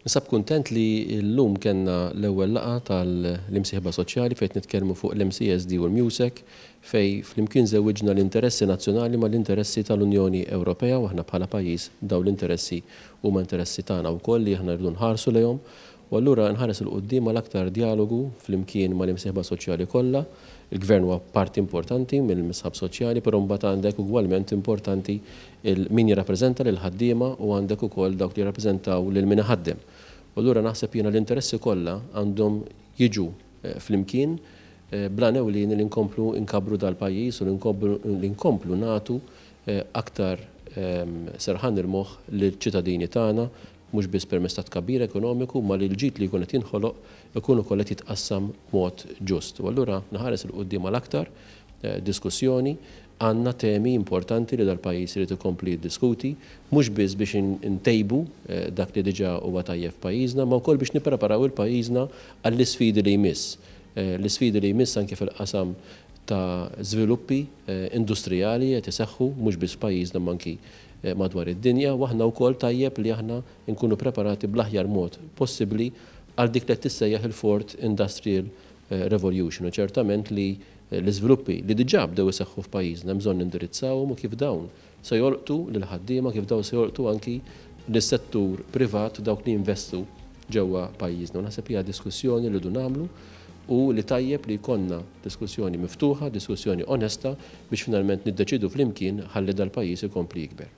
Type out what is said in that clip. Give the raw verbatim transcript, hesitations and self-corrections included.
Ninsab kuntent li llum kellna l-ewwel laqgħa tal-imsieħba soċjali fejn nitkellmu fuq l-M C S D u l-MEUSAC, fejn flimkien żewwiġna l-interessi nazzjonali mal-interessi tal-Unjoni Ewropea, u aħna bħala pajjiż dawn l-interessi huma interessi tagħna wkoll li aħna rridu nħarsu lejhom. U allura nħares 'il quddiem għal aktar djalogu flimkien mal-imsieħba soċjali kollha. Il-gvern huwa parti importanti mill-imsieħba soċjali, però mbagħad għandek ugwalment importanti min jirrappreżenta lil ħaddiema u għandek ukoll dawk li jirrappreżentaw lil min iħaddem. U allura naħseb jiena l-interessi kollha għandhom jiġu eh, flimkien eh, bl-għan ewlieni li nkomplu nkabbru dal-pajjiż u li nkomplu nagħtu eh, aktar ehm, serħan il-moħħ lill-ċittadini tagħna, mhux biss permezz ta' tkabbir ekonomiku, ma li l-ġid li jkun qed jinħoloq ikun ukoll qed jitqassam mod ġust. U allura nħares 'il quddiem għal aktar eh, diskussjoni. Għandna temi importanti li dal-pajjiż irid ikompli jiddiskuti, mhux biss biex intejbu eh, dak li diġà huwa tajjeb f'pajjiżna, ma wkoll biex nippreparaw lil pajjiżna għall-isfidi li jmiss. Eh, l-isfidi li jmiss anke fil-qasam ta' żviluppi industrijali qed iseħħu mhux biss pajjiżna ma anki Eh, madwar id-dinja, u aħna wkoll tajjeb li aħna nkunu preparati bl-aħjar mod possibbli għal dik li tissejjaħ il-Fourth Industrial eh, Revolution. U ċertament li eh, l-iżviluppi li diġà bdew iseħħu f'pajjiżna bżonn nindirizzawhom u kif dawn se jolqtu lil ħaddiema, kif dawn se jolqtu anki lis-settur privat, dawk li jinvestu ġewwa pajjiżna. U naħseb hija diskussjoni li rridu nagħmlu u li tajjeb li jkollna diskussjoni miftuħa, diskussjoni onesta biex finalment niddeċidu flimkien ħalli dal-pajjiż ikompli jikber.